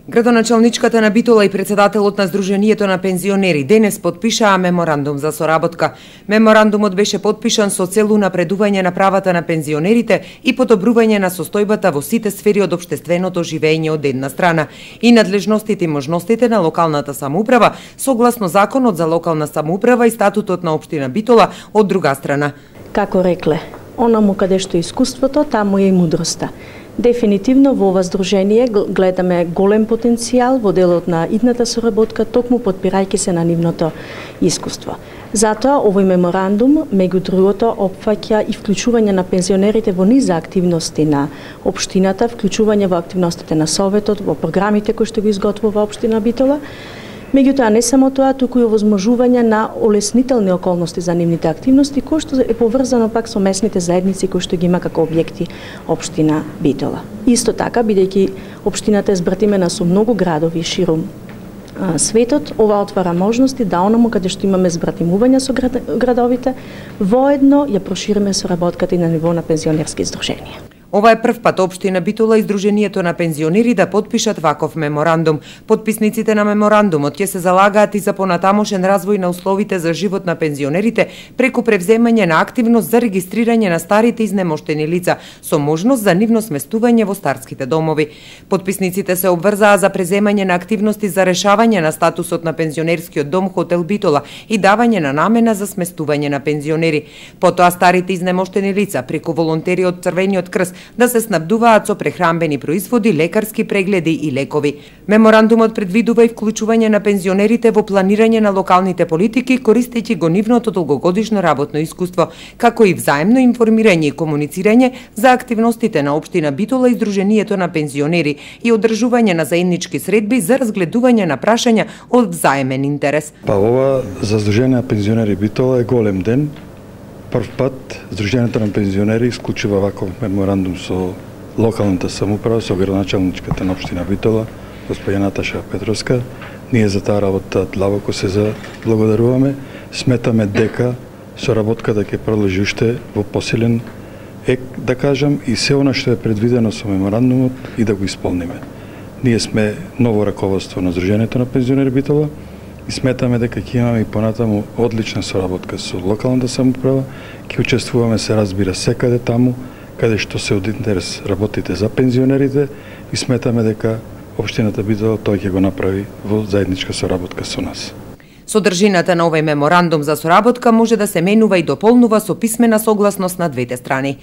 Градоначалничката на Битола и председателот на Сдруженијето на пензионери денес потпишаа меморандум за соработка. Меморандумот беше потпишан со цел унапредување на правата на пензионерите и подобрување на состојбата во сите сфери од општественото живење од една страна и надлежностите и можностите на локалната самоуправа согласно Законот за локална самоуправа и статутот на општина Битола од друга страна. Како рекле, онаму каде што е искуството, таму е и мудроста. Дефинитивно во ова здружение гледаме голем потенцијал во делот на идната соработка, токму подпирајќи се на нивното искуство. Затоа овој меморандум, меѓу другото, опфаќа и вклучување на пензионерите во низа активности на општината, вклучување во активностите на Советот, во програмите кои што ги изготвува општина Битола. Меѓутоа, не само тоа, туку и овозможување на олеснителни околности за нивните активности, кој што е поврзано пак со местните заедници кои што ги има како објекти општина Битола. Исто така, бидејќи општината е збратимена со многу градови ширум светот, ова отвара можности да онаму каде што имаме збратимување со градовите, воедно ја прошириме соработката и на ниво на пензионерски здруженија. Ова е прв пат општина Битола и Сдруженијето на пензионери да потпишат ваков меморандум. Потписниците на меморандумот ќе се залагаат и за понатамошен развој на условите за живот на пензионерите преку превземање на активност за регистрирање на старите изнемоштени лица со можност за нивно сместување во старските домови. Потписниците се обврзаа за преземање на активности за решавање на статусот на пензионерскиот дом Хотел Битола и давање на намена за сместување на пензионери. Потоа старите изнемоштени лица преку волонтери од Црвениот крст да се снабдуваат со прехранбени производи, лекарски прегледи и лекови. Меморандумот предвидува и вклучување на пензионерите во планирање на локалните политики, користејќи го нивното долгогодишно работно искуство, како и взаемно информирање и комуницирање за активностите на општина Битола и Сдруженијето на пензионери и одржување на заеднички средби за разгледување на прашања од взаемен интерес. Ова за Сдружение на пензионери Битола е голем ден. Прв пат Сдруженијето на пензионери исклучува ваков меморандум со локалната самоуправа, со градоначалничката на општина Битола, господја Наташа Петровска. Ние за таа работа длабоко се заблагодаруваме. Сметаме дека соработката ќе продолжи уште во посилен ек, да кажам, и се она што е предвидено со меморандумот и да го исполниме. Ние сме ново раководство на Сдруженијето на пензионери Битола и сметаме дека ќе имаме и понатаму одлична соработка со локалната самоуправа, ќе учествуваме, се разбира, секаде таму каде што се од интерес работите за пензионерите и сметаме дека општината Битола тој ќе го направи во заедничка соработка со нас. Содржината на овој меморандум за соработка може да се менува и дополнува со писмена согласност на двете страни.